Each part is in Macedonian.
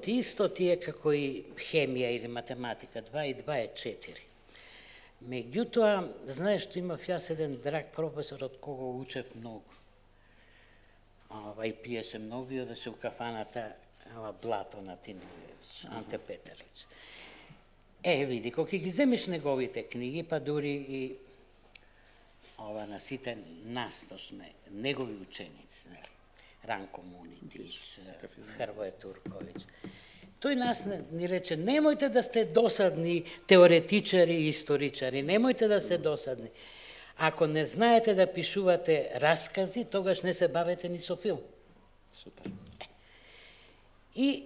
филмот исто тие како и хемија или математика, 2 и 2 е 4. Меѓутоа, знаеш што имав јас еден драг професор од кого учев многу. И пиеше многу и одеше у кафаната Блато на Тинилевич, Анте Петелич. Види, кога ги земеш неговите книги, па дури и на сите нас, точно негови ученици, Ранко Мунитич, Хрвоје Турковиќ, тој нас ни рече, немојте да сте досадни теоретичари и историчари, немојте да сте досадни. Ако не знаете да пишувате раскази, тогаш не се бавете ни со филм. Супер. И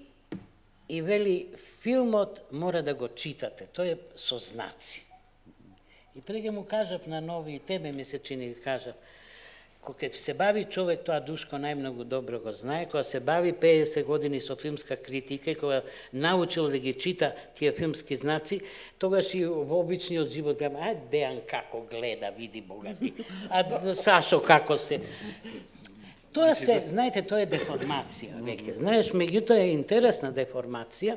вели, филмот мора да го читате, тој е со знаци. И преге му кажав на нови, и тебе ми се чини кажав, кога се бави човек, тоа Душко најмногу добро го знае, кога се бави 50 години со филмска критика, кога научил да ги чита тие филмски знаци, тогаш и во обичниот живот гледам, Дејан како гледа, види богати, Сашо како се... Тоа се, знаете, тоа е деформација, веќе. Знаеш, меѓутоа е интересна деформација,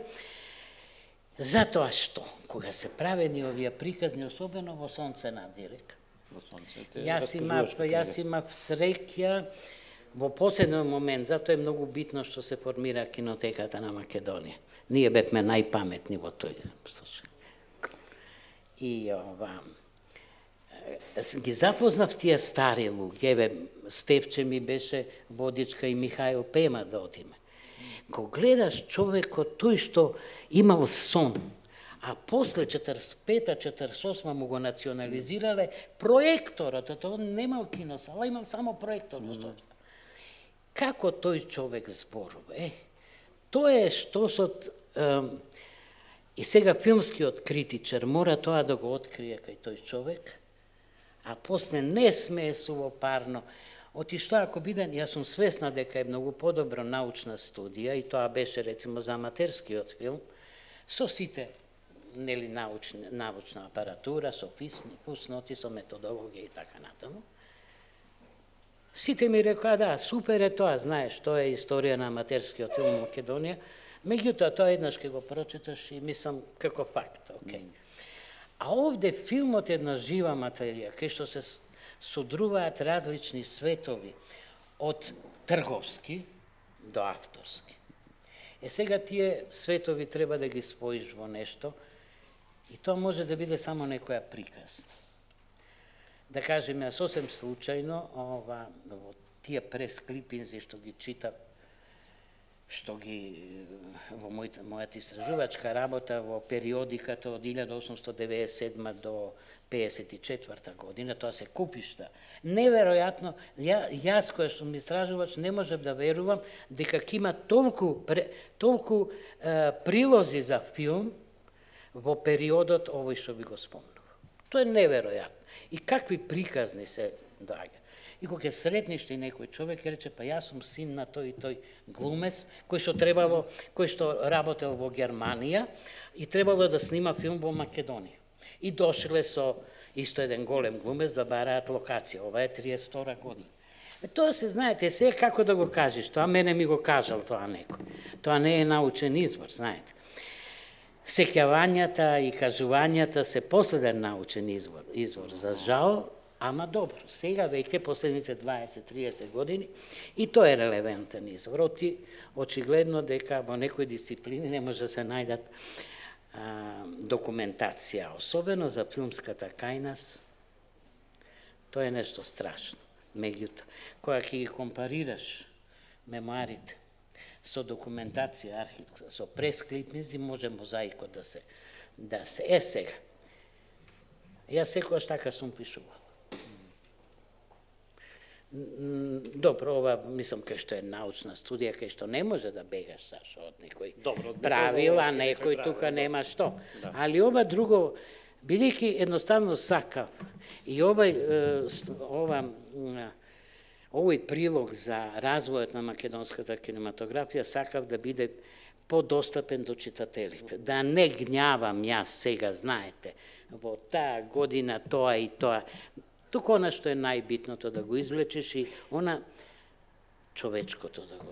затоа што, кога се правени овие приказни, особено во Сонце на Дирек, јас имав среќа во последен момент, затоа е многу битно што се формира кинотеката на Македонија. Ние бевме најпаметни во тој случај. И ги запознав тие стари луѓе, Стефче ми беше водичка и Михаил Пема да одиме. Кога гледаш човекот, тој што имал сон, а после 45-48 му го национализирале проекторот, тоа немал киносала, имал само проектор. Како тој човек зборува? Тоа е што и сега филмскиот критичар мора тоа да го открие кај тој човек, а после не смее сувопарно. Оти што ако биден, јас сум свесна дека е многу подобро научна студија, и тоа беше рецимо за аматерскиот филм, со сите научна апаратура, со фусноти, со методологија и така натаму. Сите ми рекоа, супер е тоа, знаеш, тоа е историја на аматерскиот филм во Македонија, меѓутоа тоа еднаш ке го прочиташ и мислам како факт, окей. А овде филмот е една жива материја, кај што се содруваат различни светови, од трговски до авторски. Сега тие светови треба да ги споиш во нешто, и тоа може да биде само некоја приказна. Да кажем, ја сосем случајно, во тие пресклипинзи што ги читав, што ги во мојата истражувачка работа во периодиката од 1897 до 54 година, тоа се купишта. Неверојатно, јас кој сум истражувач не можев да верувам дека ќе има толку прилози за филм во периодот овој што би го спомнува. Тоа е неверојатно. И какви приказни се доаѓа. И кога ќе сретнеш и некој човек ќе рече, па јас сум син на тој и тој глумец, кој што работел во Германија и требало да снима филм во Македонија. И дошле со исто еден голем глумец да бараат локација. Ова е 32 година. Тоа се знаете, се како да го кажеш, тоа мене ми го кажал тоа некој. Тоа не е научен извор, знаете. Сеќавањата и кажувањата се последен научен извор. За жал, ама добро. Сега веќе последните 20-30 години и тоа е релевантен извор. Очигледно дека во некои дисциплини не може да се најдат документација, особено за филмската кај нас. Тоа е нешто страшно. Меѓутоа, кога ќе ги компарираш мемуарите со документација, архивска, со пресклипници, може мозаикот да се сега. Јас секогаш така сум пишувал. Добро, ова мислам кај што е научна студија, кај што не може да бегаш Сашо од некој правила, некој тука нема што. Али ова друго, бидејќи едноставно сакав и овој прилог за развојот на македонската кинематографија сакав да биде подостапен до читателите. Да не гнјавам јас сега, знаете, во таа година тоа и тоа. Туку она што е најбитното да го извлечеш и она човечкото да го...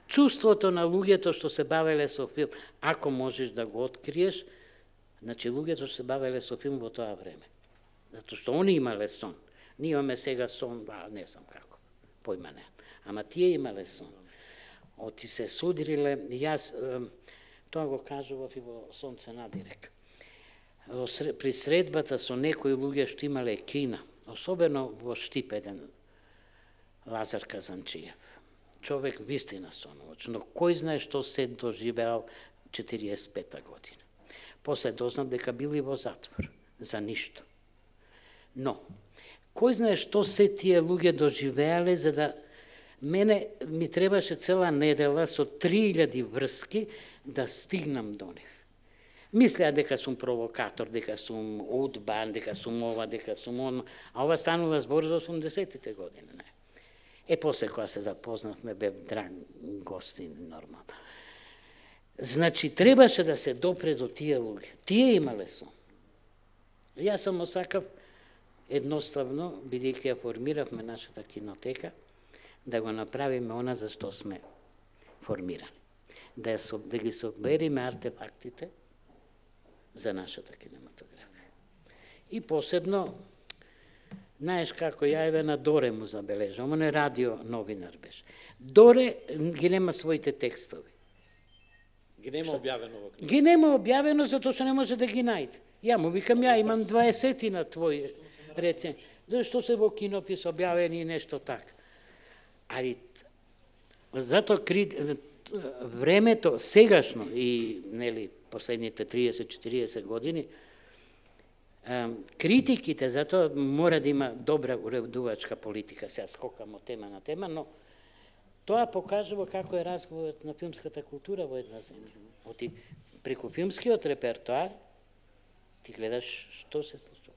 чувството на луѓето што се бавеле со филм, ако можеш да го откриеш, значи луѓето што се бавеле со филм во тоа време. Затоа што они имале сон. Ние имаме сега сон, не знам како, појма не. Ама тие имале сон. Оти се судриле, јас тоа го кажував и во Сонце надирек. При средбата со некои луѓе што имале кина, особено во Штип еден Лазар Казанчиев. Човек вистина соновоч, но кој знае што се доживеал 45-та година. После дознав дека били во затвор, за ништо. Но, кој знае што се тие луѓе доживеале, за да мене ми требаше цела недела со 3000 врски да стигнам до нив. Мислеа дека сум провокатор, дека сум удбан, дека сум ова, дека сум он, а ова станува збор за 80-тите години. Не. После кога се запознавме, бев драг гостин, нормално. Значи, требаше да се допре до тие луѓе. Тие имале сон. Јас само сакав едноставно, бидејќи ја формиравме нашата кинотека, да го направиме она за што сме формирани. Да ги собериме артефактите за нашата кинематографија. И посебно, знаеш како ја еве на Доре му забележам, он е радио новинар беше. Доре ги нема своите текстови. Ги нема објавено во книга? Ги нема објавено затоа што не може да ги најде. Ја му викам, ја имам 20 на твои рецензии. Зашто се во кинопис објавени и нешто така. Али затоа времето сегашно и нели последните 30-40 години критиките, затоа мора да има добра уредувачка политика, сега скокам од тема на тема, но тоа покажува како е разговорот на филмската култура во една земја. Оти преку филмскиот репертоар ти гледаш што се случува.